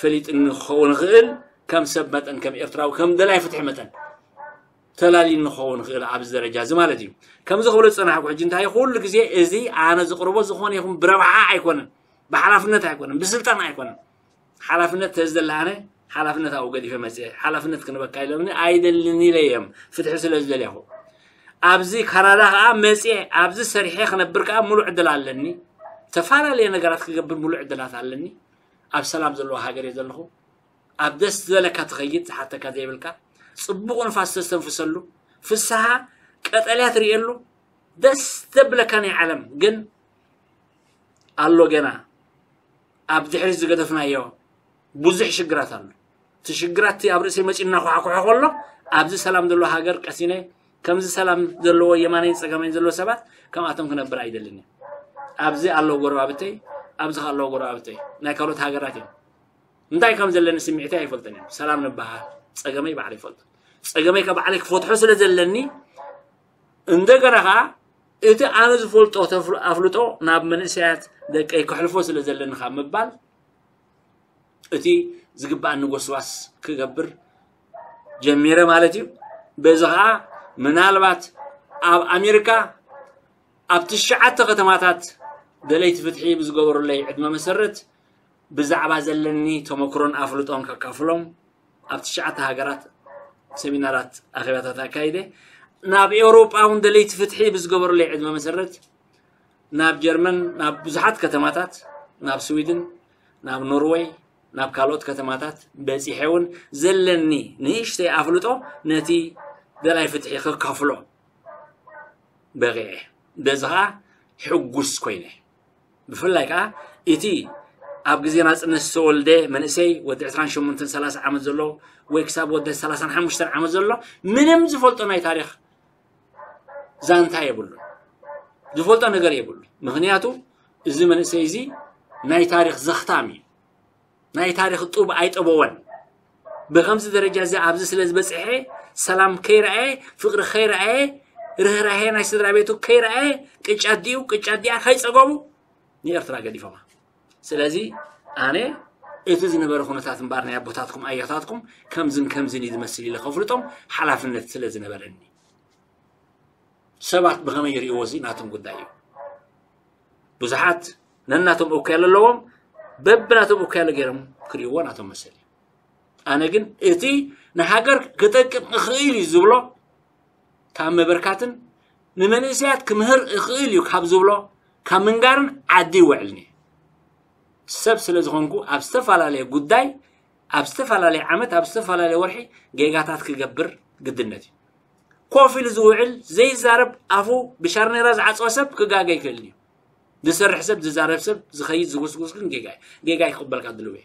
ፈሊጥኒ ክኸውን ይኽእል ከም ሰብ መጠን ከም ኤርትራዊ ከም ደላይ ፍትሒ መጠን ተላሊኒ ክኸውን ይኽእል ኣብዚ ደረጃ እዚ ማለት እዩ ከምዚ ክብሎ ዝጸናሕኩ ሕጂ እንታይ ኩሉ ግዜ እዚ ኣነ ዝቕርቦ ዝኾነ ይኹን ብረብሓ ኣይኮነን ብሓላፍነት ኣይኮነን ብስልጣን ኣይኮነን ሓላፍነት ተዝደለ ኣነ ሓላፍነት ኣብኡ ገዲፈ መፅየ ሓላፍነት ክንበካ ኢሎምኒ ኣይደልን ኢለ እዮም ፍትሒ ስለ ዝደለኹ ኣብዚ ካናዳ ከዓ መፅየ ኣብዚ ሰሪሐ ክነብር ከዓ ሙሉእ ዕድል ኣለኒ ዝተፈላለየ ነገራት ክገብር ሙሉእ ዕድላት ኣለኒ ኣብ ሰላም ዘለዎ ሃገር እየ ዘለኹ። ኣብ ደስ ዝበለካ ትኸይድ፣ ዝሓተካ ዘይብልካ፣ ጽቡቕ ንፋስ ተስተንፍሰሉ፣ ፍስሃ ቀጠልያ ትርእየሉ፣ ደስ ዘብለካ ናይ ዓለም ግን ኣሎ ገና ኣብ ድሕሪት ዝገደፍናዮ ብዙሕ ሽግራት ኣሎ። እቲ ሽግራት እቲ ኣብ ርእሰይ መጺኡ እናኳሕኩሐ ከሎ፣ ኣብዚ ሰላም ዘለዎ ሃገር ቀሲነ፣ ከምዚ ሰላም ዘለዎ የማነይን ጸጋመይን ዘለዎ ሰባት ከምኣቶም ክነብር ኣይደልን እየ። ኣብዚ ኣለዉ ጎረባብተይ፣ ኣብዚ ከኣ ኣለዉ ጎረባብተይ፣ ናይ ካልኦት ሃገራት እዮም። እንታይ ከም ዘለኒ ስምዒተይ ኣይፈልጥን እየ። ሰላም ንበሃል፣ ጸገመይ ባዕለይ ይፈልጦ። ጸገመይ ከ ባዕለይ ክፈትሖ ስለ ዘለኒ፣ እንደገና ከኣ እቲ ኣነ ዝፈልጦ ተፍል-፣ ኣፍልጦ ናብ መንእሰያት ደቀይ ከሕልፎ ስለ ዘለኒ ካብ ምባል፣ እቲ ዝግባኣኒ ጎስዋስ ክገብር ጀሚረ ማለት እዩ። በዚ ከኣ ምናልባት ኣብ ኣሜሪካ ኣብ ትሽዓተ ከተማታት ደለይቲ ፍትሒ ብዝገበሩለይ ዕድመ መሰረት ብዛዕባ ዘለኒ ተመክሮን ኣፍልጦን ከካፍሎም ኣብ ትሽዓተ ሃገራት ሰሚናራት ኣኼባታት ኣካይደ። ናብ ኤውሮጳ እውን ደለይቲ ፍትሒ ብዝገበሩለይ ዕድመ መሰረት ናብ ጀርመን፣ ናብ ብዙሓት ከተማታት፣ ናብ ስዊድን፣ ናብ ኖርወይ፣ ናብ ካልኦት ከተማታት በጺሐ እውን ዘለኒ ንእሽተይ ኣፍልጦ ነቲ ደላይ ፍትሒ ከካፍሎ በቒዐ። በዚ ኸኣ ሕጉስ ኮይነ። ብፍላይ ከኣ እቲ ኣብ ግዜ ናጽነት ዝተወልደ መንእሰይ ወዲ ዕስራን ሸሞንተን ሰላሳ ዓመት ዘሎ ወይ ክሳብ ወዲ ሰላሳን ሓሙሽተን ዓመት ዘሎ ምንም ዝፈልጦ ናይ ታሪኽ ዛንታ የብሉን። ዝፈልጦ ነገር የብሉን። ምኽንያቱ እዚ መንእሰይ እዚ ናይ ታሪኽ ዘኽታም እዩ። ናይ ታሪኽ ጡብ ኣይጠበወን። ብኸምዚ ደረጃ እዚ ኣብዚ ስለ ዝበጽሐ፣ ሰላም ከይረኣየ፣ ፍቕሪ ከይረኣየ፣ ርህራሄ ናይ ስድራ ቤቱ ከይረኣየ፣ ቅጫት ድዩ ቅጫት ድያ ከይጸገቡ ንኤርትራ ገዲፎማ። ስለዚ ኣነ እቲ ዝነበረ ኩነታት እምበር ናይ ኣቦታትኩም ኣያታትኩም ከምዝን ከምዝን እዩ ዝመስል ኢለ ከፍልጦም ሓላፍነት ስለ ዝነበረኒ። ሰባት ብኸመይ ይርእይዎ እዚ ናቶም ጉዳይ እዩ። ብዙሓት ነናቶም እኩያለ ኣለዎም፣ በብናቶም እኩያለ ገይሮም ክርእይዎ ናቶም መሰል እዩ። ኣነ ግን እቲ ንሃገር ክጠቅም እኽእል እዩ ዝብሎ ካብ ምብርካትን ንመንእሰያት ክምህር እኽእል እዩ ካብ ዝብሎ ካብ ምንጋርን ዓዲ ይውዕልኒ። ሰብ ስለ ዝኾንኩ ኣብ ዝተፈላለየ ጉዳይ፣ ኣብ ዝተፈላለየ ዓመት፣ ኣብ ዝተፈላለየ ወርሒ ጌጋታት ክገብር ግድነት እዩ። ኮፍ ኢሉ ዝውዕል ዘይዛረብ ኣፉ ብሻርኔራ ዝዓጸወ ሰብ ክጋገ ይክእል እዩ። ዝሰርሕ ሰብ፣ ዝዛረብ ሰብ፣ ዝኸይድ ዝጉስጉስ ግን ጌጋ እዩ። ጌጋ ይክበልካ ድልው እየ።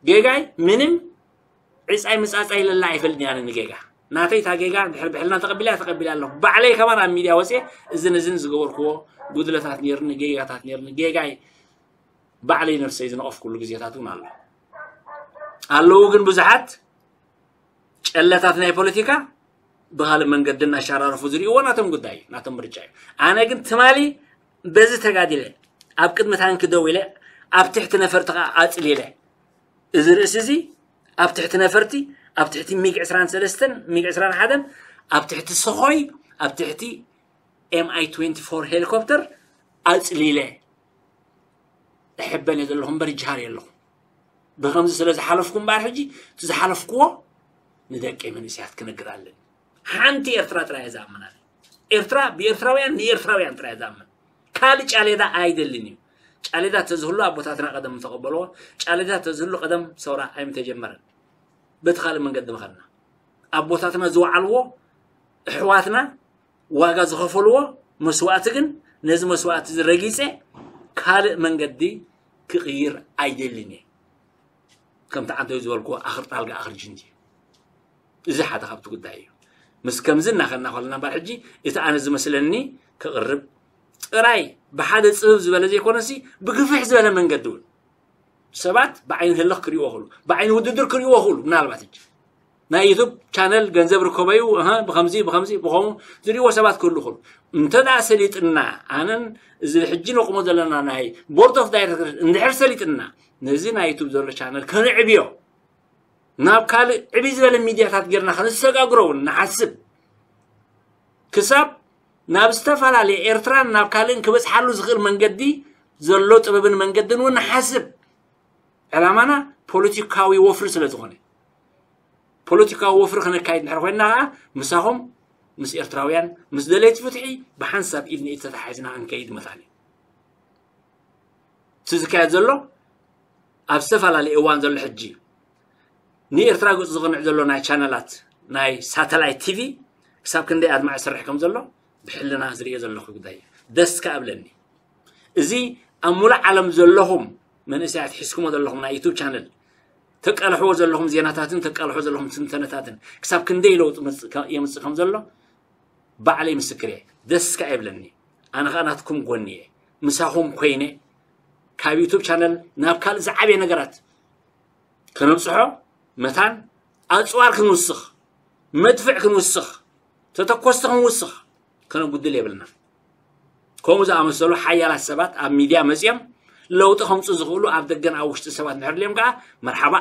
ጌጋይ ምንም ዕጻይ ምጻጻይ ኢለላ ኣይፈልጥን እየ ኣነ ንጌጋ። ናተይ እታ ጌጋ እንድሕር ብሕልና ተቐቢላ እያ ተቐቢላ ኣለኹ። ባዕለይ ከማን ኣብ ሚድያ ወፅየ እዝን እዝን ዝገበርክዎ ጉድለታት ነይርኒ፣ ጌጋታት ነይርኒ፣ ጌጋይ ባዕለይ ነብሰይ ዝነቐፍኩሉ ግዜታት እውን ኣሎ። ኣለዉ ግን ብዙሓት ጨለታት ናይ ፖለቲካ ብኻልእ መንገዲ እናሸራረፉ ዝርእይዎ ናቶም ጉዳይ እዩ፣ ናቶም ምርጫ እዩ። ኣነ ግን ትማሊ በዚ ተጋዲለ ኣብ ቅድሚ ታንኪ ደው ኢለ ኣብ ትሕቲ ነፈርቲ ከዓ ኣፅሊለ እዚ ርእሲ እዚ ኣብ ትሕቲ ነፈርቲ ኣብ ትሕቲ ሚግ ዕስራን ሰለስተን ሚግ ዕስራን ሓደን ኣብ ትሕቲ ሰኾይ ኣብ ትሕቲ ኤምኣይ ትዌንቲ ፎር ሄሊኮፕተር ኣፅሊለ እሕበን እየ ዘለኹ እምበር ይጅሃር የለኹ። ብኸምዚ ስለ ዝሓለፍኩ እምበኣር ሕጂ እቲ ዝሓለፍክዎ ንደቂ መንእሰያት ክነግር ኣለኒ። ሓንቲ ኤርትራ ጥራይ እየ ዝኣምና። ኤርትራ ብኤርትራውያን ንኤርትራውያን ጥራይ እየ ዝኣምን። ካልእ ጫሌዳ ኣይደልን እዩ። ጫሌዳ ተዝህሉ ኣቦታትና ቀደም ምተቐበልዎ፣ ጫሌዳ ተዝህሉ ቀደም ሰውራ ኣይምተጀመረን። በቲ ካልእ መንገዲ ምኸድና ኣቦታትና ዝወዓልዎ ኣሕዋትና ዋጋ ዝኸፈልዎ መስዋእቲ ግን ነዚ መስዋእቲ እዚ ረጊጸ ካልእ መንገዲ ክቕይር ኣይደልን እየ። ከምቲ ዓንተዩ ዝበልክዎ ኣኽርጣልጋ ኣኽርጅንቲ እዩ። እዚ ሓደ ካብቲ ጉዳይ እዩ። ምስ ከምዚ እናኸድና ከለና እምበኣር ሕጂ እቲ ኣነ ዝመስለኒ ክቕርብ ጥራይ ብሓደ ጽብብ ዝበለ ዘይኮነሲ ብግፍሕ ዝበለ መንገዲ እውን ሰባት ብዓይኒ ህልኽ ክርእይዎ ይኽእሉ፣ ብዓይኒ ውድድር ክርእይዎ ይኽእሉ። ምናልባት ሕጂ ናይ ዩቱብ ቻነል ገንዘብ ርከበዩ፣ እህ፣ ብኸምዚ ብኸምዚ ብኸምኡ ዝርእይዎ ሰባት ክህሉ ይኽእሉ። እንተ ደኣ ሰሊጥና ኣነን እዚ ሕጂ ነቑሞ ዘለና ናይ ቦርድ ኦፍ ዳይሬክተር እንድሕር ሰሊጥና ነዚ ናይ ዩቱብ ዘሎ ቻነል ከነዕብዮ ናብ ካልእ ዕብይ ዝበለ ሚድያታት ጌርና ከነሰጋግሮ እውን ንሓስብ። ክሳብ ናብ ዝተፈላለየ ኤርትራን ናብ ካልእን ክበጽሓሉ ዝኽእል መንገዲ ዘሎ ጥበብን መንገድን እውን ንሓስብ። ዕላማና ፖለቲካዊ ወፍሪ ስለ ዝኾነ ፖለቲካዊ ወፍሪ ከነካይድ እንድሕር ኮይንና ከዓ ምሳኹም ምስ ኤርትራውያን ምስ ደለይቲ ፍትሒ ብሓንሳብ ኢድ ንኢድ ተተሓሒዝና ክንከይድ መታን እዩ። እቲ ዝካየድ ዘሎ ኣብ ዝተፈላለየ እዋን ዘሎ ሕጂ ንኤርትራ ገጹ ዝቕንዕ ዘሎ ናይ ቻነላት ናይ ሳተላይት ቲቪ ክሳብ ክንደይ ኣድማዕ ይሰርሕ ከም ዘሎ ብሕልና ዝርእዮ ዘለኹ ጉዳይ እዩ። ደስ ከኣ እብለኒ። እዚ ኣብ ሙሉእ ዓለም ዘለኹም መንእሰያት ሒዝኩሞ ዘለኹም ናይ ዩቱብ ቻነል ተቃልሕዎ ዘለኹም ዜናታትን ተቃልሕዎ ዘለኹም ትንተነታትን ክሳብ ክንደይ ለውጢ መጽእ ከ-፣ የምጽእ ከም ዘሎ ባዕለይ ምስክር እየ። ደስ ከኣ ይብለኒ። ኣነ ከኣ ናትኩም ጎኒ እየ። ምሳኹም ኮይነ ካብ ዩቱብ ቻነል ናብ ካልእ ዝዓበየ ነገራት ከነብጽሖ መታን ኣጽዋር ክንውስኽ፣ መድፍዕ ክንውስኽ፣ ተተኮስቲ ክንውስኽ ከነጉድል የብልና። ከምኡ ዝኣመሰሉ ሓያላት ሰባት ኣብ ሚድያ መጺኦም ለውጢ ከምጹ ዝኽእሉ ኣብ ደገን ኣብ ውሽጢ ሰባት እንድሕር ድልዮም ከኣ መርሓባ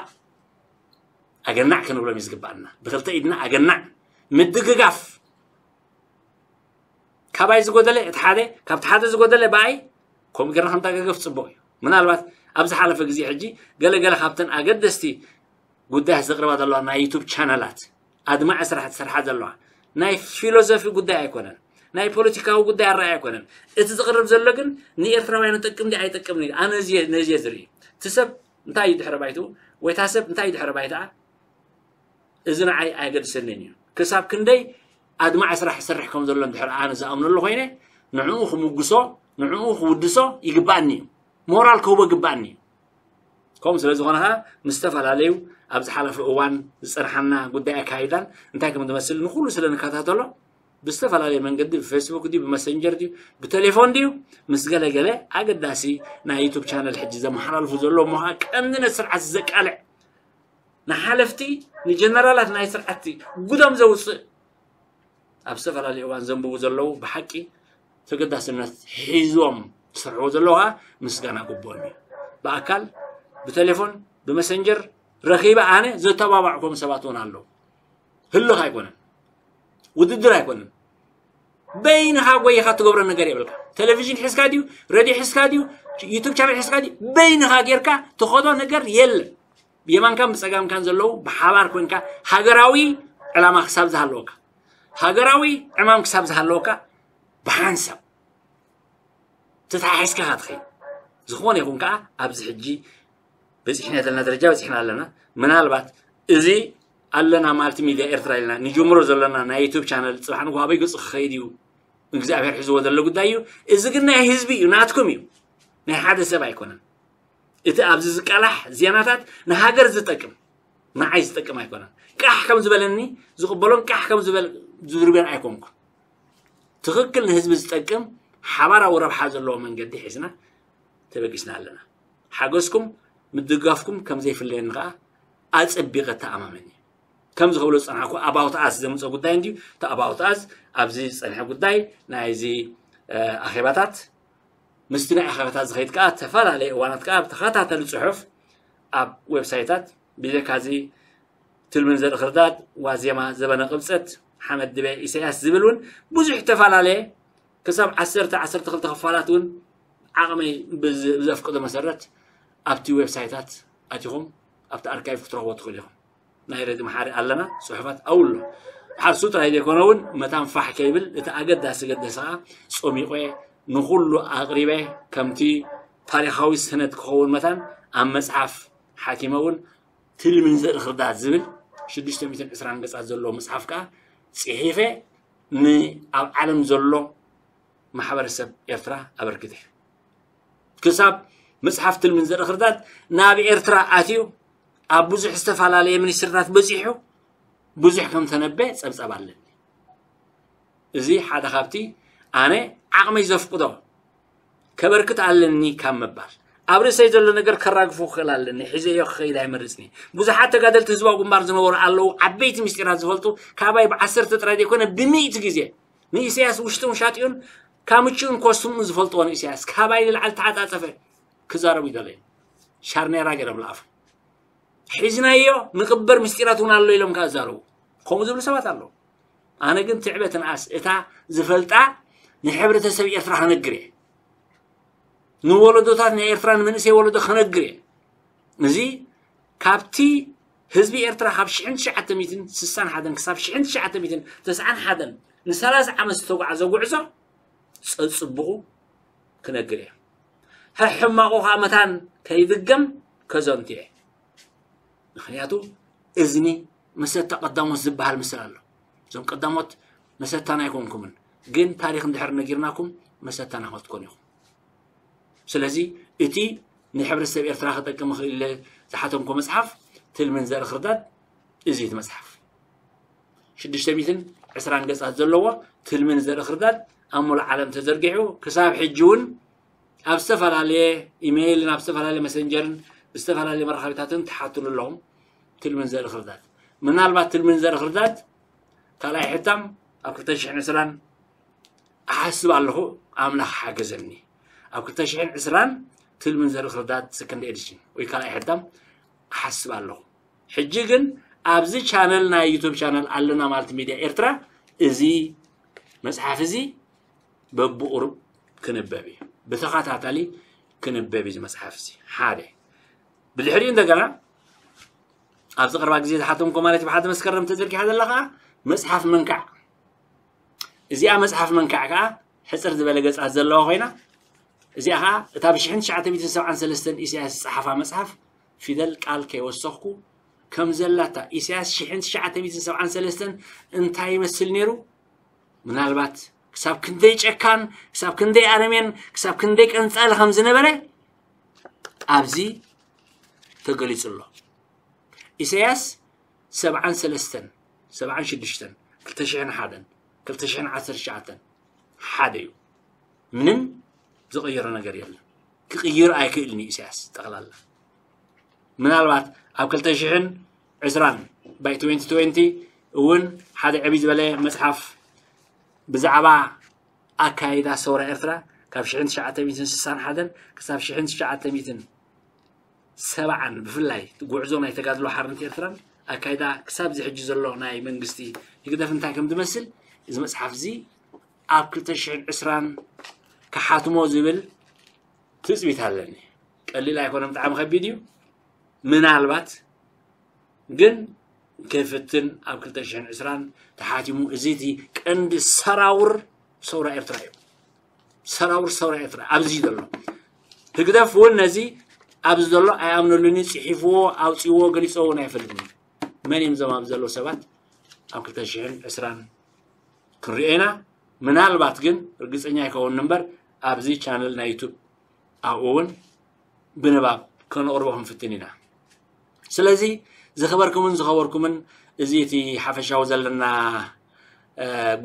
ኣገናዕ ክንብሎም እዩ ዝግባኣና። ብክልተ ኢድና ኣገናዕ ምድግጋፍ። ካባይ ዝጎደለ እቲ ሓደ፣ ካብቲ ሓደ ዝጎደለ ብኣይ፣ ከምኡ ጌርና ክንተጋገፍ ጽቡቕ እዩ። ምናልባት ኣብ ዝሓለፈ ግዜ ሕጂ ገለ ገለ ካብተን ኣገደስቲ ጉዳያት ዘቕርባ ዘለዋ ናይ ዩቱብ ቻነላት ኣድማዒ ስራሕ ትሰርሓ ዘለዋ ናይ ፊሎሶፊ ጉዳይ ኣይኮነን፣ ናይ ፖለቲካዊ ጉዳይ ኣረኣይ ኣይኮነን። እቲ ዝቕርብ ዘሎ ግን ንኤርትራውያን ይጠቅም ድዩ ኣይጠቅምን እዩ። ኣነ ነዚ እየ ዝርኢ። እቲ ሰብ እንታይ እዩ ድሕረ ባይትኡ ወይ እታ ሰብ እንታይ እዩ ድሕረ ባይትኣ እዚ ንዓይ ኣየገድሰንን እዩ። ክሳብ ክንደይ ኣድማዒ ስራሕ ይሰርሕ ከም ዘሎ እንድሕር ኣነ ዝኣምነሉ ኮይነ ንዕኡ ክምጉሶ ንዕኡ ክውድሶ ይግባኣኒ እዩ። ሞራል ክህቦ ይግባኣኒ እዩ። ከምኡ ስለ ዝኾነ ከዓ ምስ ዝተፈላለዩ ኣብ ዝሓለፈ እዋን ዝፀንሓና ጉዳይ ኣካይዳን እንታይ ከም ዝመስል ንኩሉ ስለ ንከታተሎ ብዝተፈላለየ መንገዲ ብፌስቡክ ድዩ ብመሰንጀር ድዩ ብቴሌፎን ድዩ ምስ ገለገለ ኣገዳሲ ናይ ዩቱብ ቻነል ሕጂ ዘመሓላልፉ ዘሎ እሞ ከዓ ቀንድነት ስርዓት ዘቃልዕ ንሓለፍቲ ንጀነራላት ናይ ስርዓቲ ጉዶም ዘውፅእ ኣብ ዝተፈላለዩ እዋን ዘንብቡ ዘለዉ ብሓቂ ተገዳስነት ሒዞም ዝሰርሕዎ ዘለዉ ከዓ ምስጋና ግብኦም እዩ። ብኣካል ብቴሌፎን ብመሰንጀር ረኺበ ኣነ ዘተባባዕኮም ሰባት እውን ኣለዉ። ህልኽ ኣይኮነን፣ ውድድር ኣይኮነን። በይንኻ ጎይኻ ትገብሮ ነገር የብልካ። ቴሌቪዥን ሒዝካ ድዩ፣ ሬድዮ ሒዝካ ድዩ፣ ዩቱብ ቻነል ሒዝካ ድዩ፣ በይንኻ ጌርካ ትኸዶ ነገር የለን። ብየማንካን ብጸጋምካን ዘለዉ ብሓባር ኮንካ ሃገራዊ ዕላማ ክሳብ ዝሃለወካ፣ ሃገራዊ ዕማም ክሳብ ዝሃለወካ ብሓንሳብ ተተሓሒዝካ ኢኻ ትኸይድ። ዝኾነ ይኹን ከኣ ኣብዚ ሕጂ በጺሕና ዘለና ደረጃ በጺሕና ኣለና። ምናልባት እዚ ኣለና ማልቲ ሚድያ ኤርትራ ኢልና ንጅምሮ ዘለና ናይ ዩቱብ ቻነል ጽባሕ ንግሆ ኣበይ ገጹ ክኸይድ እዩ እግዚኣብሔር ሒዝዎ ዘሎ ጉዳይ እዩ። እዚ ግን ናይ ህዝቢ እዩ፣ ናትኩም እዩ፣ ናይ ሓደ ሰብ ኣይኮነን። እቲ ኣብዚ ዝቃላሕ ዜናታት ንሃገር ዝጠቅም ንዓይ ዝጠቅም ኣይኮነን። ቃሕ ከም ዝበለኒ ዝቕበሎን ቃሕ ከም ዝበል ዝድርብዮን ኣይኮንኩን። ትኽክል ንህዝቢ ዝጠቅም ሓባራዊ ረብሓ ዘለዎ መንገዲ ሒዝና ተበጊስና ኣለና። ሓገዝኩም ምድጋፍኩም ከም ዘይፍለየኒ ከኣ ኣጸቢቐ እተኣማመን እየ። ከም ዝኸብሎ ዝጸናሕኩ ኣባውት ኣስ ዘምጽኦ ጉዳይ እንድዩ። እቲ ኣባውት ኣስ ኣብዚ ዝጸንሐ ጉዳይ ናይዚ ኣኼባታት ምስቲ ናይ ኣኼባታት ዝኸይድ ከኣ ዝተፈላለየ እዋናት ከኣ ብተኸታተሊ ጽሑፍ ኣብ ዌብሳይታት ብጀካ እዚ ትልምን ዘርኢ ክርዳድ ዋዜማ ዘበነ ቅብጸት ሓመድ ድበ ኢሳያስ ዝብል እውን ብዙሕ ዝተፈላለየ ክሳብ ዓሰርተ ዓሰርተ ክልተ ክፋላት እውን ዓቕመይ ብዘፍቅዶ መሰረት ኣብቲ ዌብሳይታት ኣቲኹም ኣብቲ ኣርካይቭ ክትረኽቦ ትኽእሉ ኢኹም። ናይ ረዲ መሓሪ ኣለና ጽሑፋት ኣውሎ ሓርሱ ጥራይ ዘይኮነ እውን መታን ፋሕ ከይብል እቲ ኣገዳሲ ገደሰ ከዓ ጾሚቆ ንኹሉ ኣቕሪበ ከምቲ ታሪኻዊ ሰነድ ክኸውን መታን ኣብ መጽሓፍ ሓኪመ እውን ትልምን ዘርኢ ክርዳት ዝብል ሽዱሽተ ሚእትን ዕስራን ገጻት ዘለዎ መጽሓፍ ከዓ ጽሒፈ ንኣብ ዓለም ዘሎ ማሕበረሰብ ኤርትራ ኣበርክተ ክሳብ መጽሓፍ ትልምን ዘርኢ ክርዳት ናብ ኤርትራ ኣትዩ ኣብ ብዙሕ ዝተፈላለየ ሚኒስትርታት በጺሑ ብዙሕ ከም ተነበ ጸብጸብ ኣለኒ። እዚ ሓደ ካብቲ ኣነ ዓቕመይ ዘፍቅዶ ከበርክት ኣለኒ ካብ ምባል ኣብ ርእሰይ ዘሎ ነገር ከራግፎ ክኽእል ኣለኒ። ሒዘዮ ክኸይድ ኣይመርጽኒ። ብዙሓት ተጋደልቲ ህዝባዊ ግንባር ዝነበሩ ኣለዉ፣ ዓበይቲ ምስጢራት ዝፈልጡ ካባይ ብዓሰርተ ጥራይ ዘይኮነ ብሚእቲ ግዜ ንኢሳያስ ውሽጥን ውሻጢኡን ካምችኡን ኮስምኡን ዝፈልጥዎ ንኢሳያስ ካባይ ንላዕሊ ተዓጻጸፈ ክዛረቡ ይደለዩ። ሻርኔራ ገይሮም ለኣፉ። ሒዝናዮ ንቕበር ምስጢራት እውን ኣሎ ኢሎም ከዓ ዛረቡ። ከምኡ ዝብሉ ሰባት ኣለዉ። ኣነ ግን ትዕበ ትንኣስ እታ ዝፈልጣ ንሕብረተሰብ ኤርትራ ክነግር እየ። ንወለዶታት ናይ ኤርትራ ንመንእሰይ ወለዶ ክነግር እየ። እዚ ካብቲ ህዝቢ ኤርትራ ካብ ሽሕን ትሽዓተ ሚእትን ስሳን ሓደን ክሳብ ሽሕን ትሽዓተ ሚእትን ተስዓን ሓደን ንሰላሳ ዓመት ዝተጓዓዘ ጉዕዞ ጸጽብቑ ክነግር እየ። ሕሕማቑ ከዓ መታን ከይድገም ከዘንቱ እየ። ምክንያቱ እዝኒ መሰታ ቀዳሞት ዝበሃል ምስል ኣሎ። እዞም ቀዳሞት መሰታና ኣይኮንኩምን፣ ግን ታሪኽ እንድሕር ነጊርናኩም መሰታና ክትኮኑ ኢኹም። ስለዚ እቲ ንሕብረተሰብ ኤርትራ ክጠቅም ይኽእል ኢለ ዝሓተምኮ መጽሓፍ ትልምን ዘርኢ ክርዳድ እዚ እቲ መጽሓፍ። ሽዱሽተ ሚእትን ዕስራን ገጻት ዘለዎ ትልምን ዘርኢ ክርዳድ ኣብ ሙሉእ ዓለም ተዘርጊሑ ክሳብ ሕጂ እውን ኣብ ዝተፈላለየ ኢሜይልን ኣብ ዝተፈላለየ መሰንጀርን ብዝተፈላለየ መራኸቢታትን ትሓትሉ ኣለኹም። ትልምን ዘርኢ ክርዳድ ምናልባት ትልምን ዘርኢ ክርዳድ ካልኣይ ሕታም ኣብ ክልተ ሽሕን ዕስራን እሓስብ ኣለኹ። ኣምላኽ ሓገዘኒ። ኣብ ክልተ ሽሕን ዕስራን ትልምን ዘርኢ ክርዳድ ሰከንድ ኤዲሽን ወይ ካልኣይ ሕታም እሓስብ ኣለኹ። ሕጂ ግን ኣብዚ ቻነል ናይ ዩቱብ ቻነል ኣለና ማለት ሚድያ ኤርትራ እዚ መጽሓፍ እዚ በብቑሩብ ክንበብ እዩ። ብተኸታታሊ ክንበብ እዩ እዚ መጽሓፍ እዚ። ሓደ ብድሕሪኡ እንደገና ኣብዚ ቅርባ ግዜ ዝሓተምኮ ማለት ብሓደ መስከረም ተዘርጊሓ ዘላ ከዓ መጽሓፍ መንካዕ። እዚኣ መጽሓፍ መንካዕ ከዓ ሕጽር ዝበለ ገጻት ዘለዋ ኮይና እዚኣ ከዓ እታ ብ ሽሕን ትሽዓተ ሚእትን ሰብዓን ሰለስተን ኢሳያስ ዝጸሓፋ መጽሓፍ ፊደል ቃል ከይወሰኽኩ ከም ዘላታ ኢሳያስ ሽሕን ትሽዓተ ሚእትን ሰብዓን ሰለስተን እንታይ ይመስል ነይሩ ምናልባት ክሳብ ክንደይ ጨካን ክሳብ ክንደይ ኣረሜን ክሳብ ክንደይ ቀንጻሊ ከም ዝነበረ ኣብዚ ተገሊጹ ኣሎ። ኢሳያስ ሰብዓን ሰለስተን ሰብዓን ሽዱሽተን ክልተ ሽሕን ሓደን ክልተ ሽሕን ዓሰርተ ትሽዓተን ሓደ እዩ። ምንም ዝቐየሮ ነገር የለን። ክቕይር ኣይክእልን እዩ ኢሳያስ ጠቕላላ። ምናልባት ኣብ ክልተ ሽሕን ዕስራን ባይ ትወንቲ ትወንቲ እውን ሓደ ዕብይ ዝበለ መጽሓፍ ብዛዕባ ኣካይዳ ሰውራ ኤርትራ ካብ ሽሕን ትሽዓተ ሚእትን ስሳን ሓደን ክሳብ ሽሕን ትሽዓተ ሚእትን ሰብዓን ብፍላይ እቲ ጉዕዞ ናይ ተጋድሎ ሓርነት ኤርትራን ኣካይዳ ክሳብ እዚ ሕጂ ዘሎ ናይ መንግስቲ ህግደፍ እንታይ ከም ዝመስል እዚ መጽሓፍ እዚ ኣብ ክልተ ሽሕን ዕስራን ክሓትሞ ዝብል ትጽቢት ኣለኒ። ቀሊል ኣይኮነን፣ ብጣዕሚ ከቢድ እዩ። ምናልባት ግን ከይፍትን ኣብ ክልተ ሽሕን ዕስራን ተሓቲሙ እዚ እቲ ቀንዲ ሰራውር ሰውራ ኤርትራ እዩ። ሰራውር ሰውራ ኤርትራ ኣብዚ ዘሎ ህግደፍ እውን ነዚ ኣብዚ ዘሎ ኣይኣምነሉን እዩ። ጽሒፍዎ ኣውጺዎ ገሊጾ እውን ኣይፈልጥን እዩ። መን እዮም እዞም ኣብዚ ዘለዉ ሰባት ኣብ ክልተ ሽሕን ዕስራን ክንሪኦ ኢና። ምናልባት ግን ርግጸኛ ኣይከውን እምበር ኣብዚ ቻነል ናይ ዩቱብ ኣብኡ እውን ብንባብ ከነቕርቦ ክንፍትን ኢና። ስለዚ ዝኸበርኩምን ዝኸበርኩምን እዚ እቲ ሓፈሻዊ ዘለና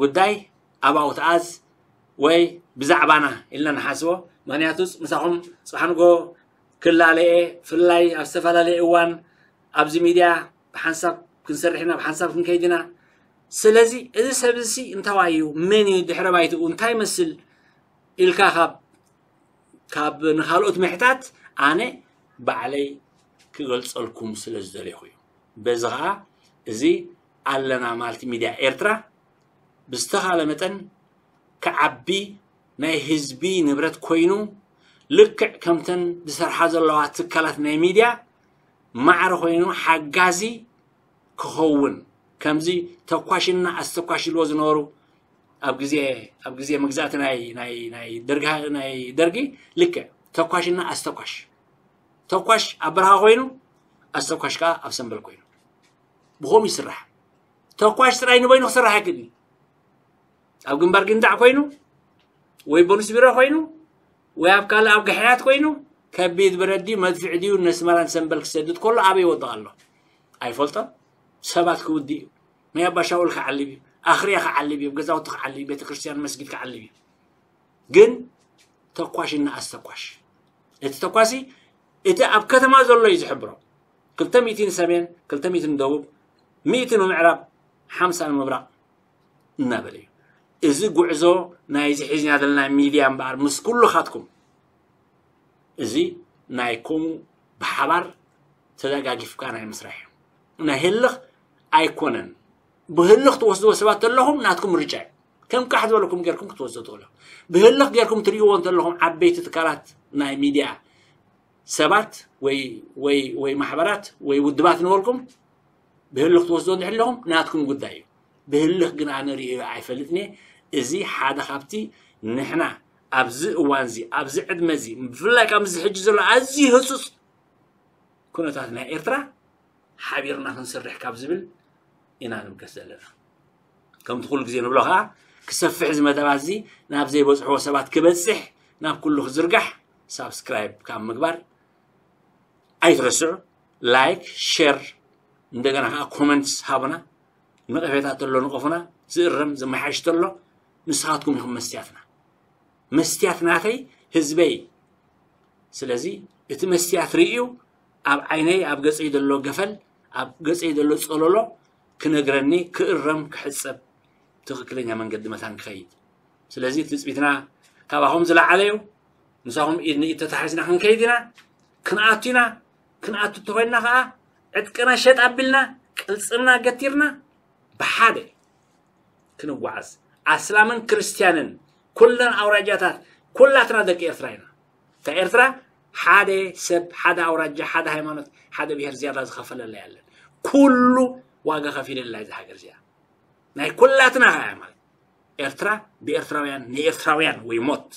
ጉዳይ ኣብኡ ትኣዝ ወይ ብዛዕባና ኢልና ንሓስቦ። ምክንያቱ ምሳኹም ጽባሕ ንጎ ክላለየ ፍላይ ኣብ ዝተፈላለየ እዋን ኣብዚ ሚድያ ብሓንሳብ ክንሰርሕ ኢና፣ ብሓንሳብ ክንከይድ ኢና። ስለዚ እዚ ሰብ እዚ እንታዋይ እዩ፣ መን እዩ፣ ድሕረ ባይትኡ እንታይ ይመስል ኢልካ ካብ ካብ ንኻልኦት ምሕታት ኣነ ባዕለይ ክገልጸልኩም ስለ ዝደለኹ እዩ። በዚ ኸዓ እዚ ኣለና ማልቲ ሚድያ ኤርትራ ብዝተኻለ መጠን ክዓቢ ናይ ህዝቢ ንብረት ኮይኑ ልክዕ ከምተን ዝሰርሓ ዘለዋ ትካላት ናይ ሚድያ ማዕረ ኮይኑ ሓጋዚ ክኸውን ከምዚ ተኳሽና ኣስተኳሽ ኢልዎ ዝነበሩ ኣብ ግዜ ኣብ ግዜ መግዛእቲ ናይ ናይ ናይ ደርጊ ናይ ደርጊ ልክዕ ተኳሽና ኣስተኳሽ ተኳሽ ኣብ በረኻ ኮይኑ ኣስተኳሽ ከዓ ኣብ ሰንበል ኮይኑ ብኸምኡ ይስራሕ። ተኳሽ ጥራይ ንበይኑ ክስራሕ ኣይክእልን። ኣብ ግንባር ግንዳዕ ኮይኑ ወይ ቦሊስ ቢሮ ኮይኑ ወይ ኣብ ካልእ ኣብ ግሕያት ኮይኑ ከቢድ ብረት ድዩ መድፍዕ ድዩ ነስመራን ሰንበል ክሰድድ ከሎ ኣበይ ይወድቕ ኣሎ ኣይፈልጦን። ሰባት ክውድእ እዩ። ናይ ኣባ ሻውል ክዓልብ እዩ። ኣኽርያ ክዓልብ እዩ። ገዛውቲ ክዓልብ እዩ። ቤተክርስትያን መስጊድ ክዓልብ እዩ። ግን ተኳሽና ኣስተኳሽ እቲ ተኳሲ እቲ ኣብ ከተማ ዘሎ እዩ ዝሕብሮ። ክልተ ሚእቲ ንሰሜን፣ ክልተ ሚእቲ ንደቡብ፣ ሚእቲ ንምዕራብ፣ ሓምሳ ንምብራቕ እናበለ እዩ። እዚ ጉዕዞ ናይዚ ሒዝና ዘለና ሚድያ እምበኣር ምስ ኩልኻትኩም እዚ ናይ ከምኡ ብሓባር ተደጋጊፍካ ናይ ምስራሕ እዩ። ናይ ህልኽ ኣይኮነን። ብህልኽ ትወስድዎ ሰባት ዘለኹም ናትኩም ምርጫ እዩ። ከም ቃሕ ዝበለኩም ጌርኩም ክትወስዶ ትኽእሉ። ብህልኽ ጌርኩም ትርእይዎ እንተለኹም ዓበይቲ ትካላት ናይ ሚድያ ሰባት ወይ ወይ ወይ ማሕበራት ወይ ውድባት ንበልኩም ብህልኽ ትወስዶ እንድሕር ኣለኹም ናትኩም ጉዳይ እዩ። ብህልኽ ግን ኣነ ርእዮ ኣይፈልጥን እየ። እዚ ሓደ ካብቲ ንሕና ኣብዚ እዋን እዚ ኣብዚ ዕድመ እዚ ብፍላይ ካብ እዚ ሕጂ ዘሎ ኣዝዩ ህጹጽ ኩነታት ናይ ኤርትራ ሓቢርና ክንስርሕ ካብ ዝብል ኢና ንብገስ ዘለና። ከምቲ ኩሉ ግዜ ንብሎ ከዓ ክሰፍሕ እዚ መደባት እዚ ናብ ዘይበፅሕዎ ሰባት ክበፅሕ ናብ ኩሉ ክዝርጋሕ ሳብስክራይብ ካብ ምግባር ኣይትረስዑ። ላይክ፣ ሼር፣ እንደገና ከዓ ኮመንትስ ሃቡና። ነቐፌታ ተሎ ንቐፉና። ዝእረም ዝመሓሽ ተሎ ንስኻትኩም ኢኹም መስትያትና። መስትያት ናተይ ህዝበይ። ስለዚ እቲ መስትያት ርእዩ ኣብ ዓይነይ ኣብ ገፀይ ዘሎ ገፈል ኣብ ገፀይ ዘሎ ፀለሎ ክነግረኒ ክእረም ክሕፀብ ትኽክለኛ መንገዲ መታን ክኸይድ። ስለዚ ትፅቢትና ካባኹም ዝለዓለ እዩ። ምሳኹም ኢድ ንኢድ ተታሒዝና ክንከይድ ኢና። ክንኣቱ ኢና። ክንኣቱ እንተኮይንና ከዓ ዕጥቅና ሸጥ ኣቢልና ቅልፅምና ገቲርና ብሓደ ክንጓዓዝ ኣስላምን ክርስትያንን ኩለን ኣውራጃታት ኩላትና ደቂ ኤርትራ ኢና። እታ ኤርትራ ሓደ ሰብ ሓደ ኣውራጃ ሓደ ሃይማኖት ሓደ ብሄር ዝያዳ ዝኸፈለላ ያለን። ኩሉ ዋጋ ከፊለላ እዚ ሃገር እዚኣ ናይ ኩላትና ከኣ ማለት ኤርትራ ብኤርትራውያን ንኤርትራውያን ወይ ሞት።